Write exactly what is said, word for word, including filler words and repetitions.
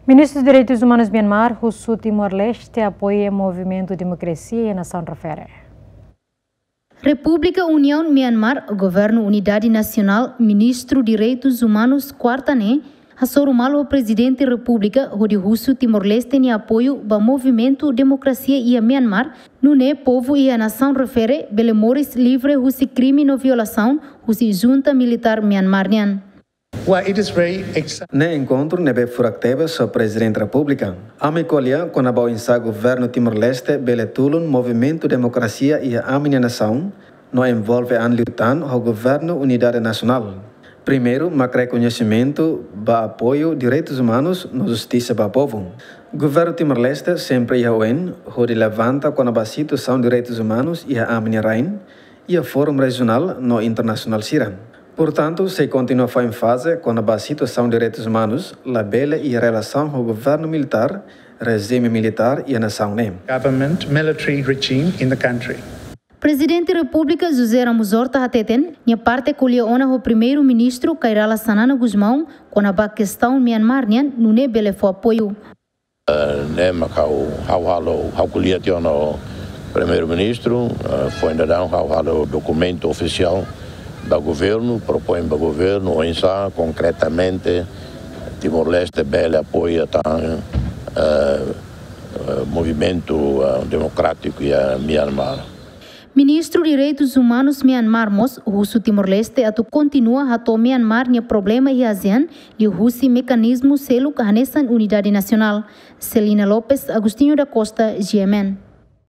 Ministru Direitus Umanus Myanmar husu Timor-Leste apoia movimentu demokrasia iha nasaun refere. Repúblika Uniaun Myanmar, Governu Unidade Nasionál, Ministru Direitus Umanus kuarta ne'e hasoru malu ho Prezidente Repúblika hodi husu Timor-Leste nia apoiu ba movimentu demokrasia iha Myanmar, nune'e povu iha nasaun refere bele moris livre husi krime no violasaun husi junta militár Myanmar nian. Ne'e enkontru ne'ebé furak tebes ho Prezidente Repúblika. Ami ko'alia kona-ba oinsá Governu Timor-Leste bele tulun movimentu demokrasia iha ami-nia nasaun, no envolve an liután ho Governu Unidade Nasionál. Primeiru, mak rekoñesimentu ba apoiu direitus umanus no justisa ba povu. Governu Timor-Leste sempre iha oin hodi levanta kona-ba situasaun direitus umanus iha ami-nia rain, iha fórum rejionál no internasionál sira. Portantu, sei kontinua fó énfaze kona-ba situasaun direitus umanus, labele iha relasaun ho governu militár, rejime militár iha nasaun ne'e. Government military regime in the country. Prezidente Repúblika José Ramos Horta hateten, nia parte ko'alia ona ho Primeiru-Ministru Kay Rala Xanana Gusmão kona-ba kestaun Myanmar nian, nune'e bele fó apoiu. Ne'e mak ha'u, ha'u halo, ha'u ko'alia tiha ona ho Primeiru-Ministru, eh, foin daudaun ha'u halo dokumentu ofisiál ba governu, propoin ba governu oinsá konkretamente Timor-Leste bele apoia tan, eh, eh, movimentu, eh, demokrátiku iha Myanmar. Ministru Direitus Umanus Myanmar mós husu Timor-Leste atu kontinua hato'o Myanmar nia problema iha ASEAN liuhusi mekanizmu seluk hanesan Unidade Nasionál. Celina Lopes, Agostinho da Costa, G M N.